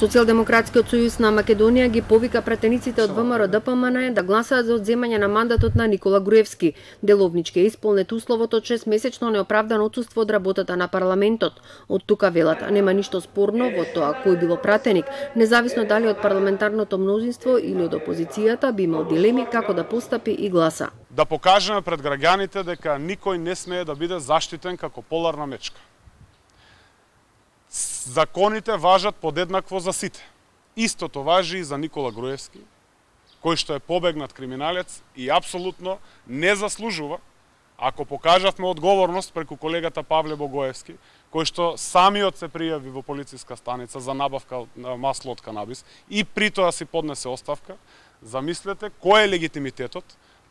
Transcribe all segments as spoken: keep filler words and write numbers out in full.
Социјалдемократскиот сојуз на Македонија ги повика пратениците од ВМРО-ДПМН да гласаат за одземање на мандатот на Никола Груевски. Деловнички е исполнет условот од шестмесечно неоправдано отсуство од работата на парламентот. Од тука велат, нема ништо спорно во тоа кој било пратеник, независно дали од парламентарното мнозинство или од опозицијата би имал дилеми како да постапи и гласа. Да покажеме пред граѓаните дека никој не смее да биде заштитен како поларна мечка. Законите важат подеднакво за сите. Истото важи и за Никола Груевски, кој што е побегнат криминалец и апсолутно не заслужува, ако покажавме одговорност преку колегата Павле Богоевски, кој што самиот се пријави во полициска станица за набавка на масло од канабис и при тоа си поднесе оставка, замислете кој е легитимитетот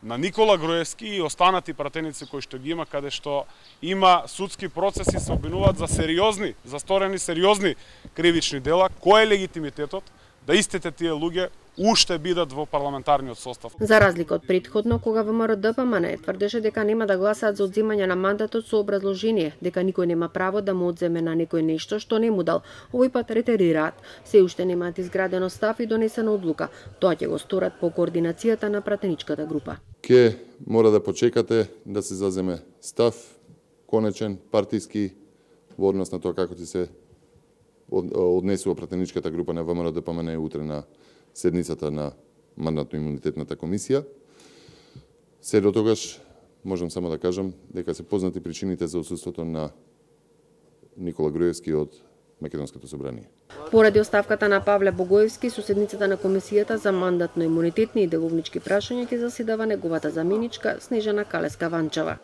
на Никола Груевски и останати пратеници кои што ги има, каде што има судски процеси, се обвинуваат за сериозни, за сторени сериозни кривични дела, кој е легитимитетот да истите тие луѓе уште бидат во парламентарниот состав. За разлика од претходно, кога ВМРО-ДПМН тврдеше дека нема да гласаат за одземање на мандатот со образложение дека никој нема право да му одземе на некој нешто што не му дал. Овој пат ретерираат. Се уште немаат изградено став и донесена одлука. Тоа ќе го сторат по координацијата на пратеничката група. Ке мора да почекате да се заземе став конечен, партиски, во однос на тоа како ќе се однесува пратеничката група на ВМРО-ДПМН утре на седницата на мандатно-имунитетната комисија. Се до тогаш можам само да кажам дека се познати причините за отсуството на Никола Груевски од Македонското собрание. Поради оставката на Павле Богоевски, со седницата на комисијата за мандатно-имунитетни и деловнички прашања ќе заседава неговата заменичка Снежана Калеска-Ванчева.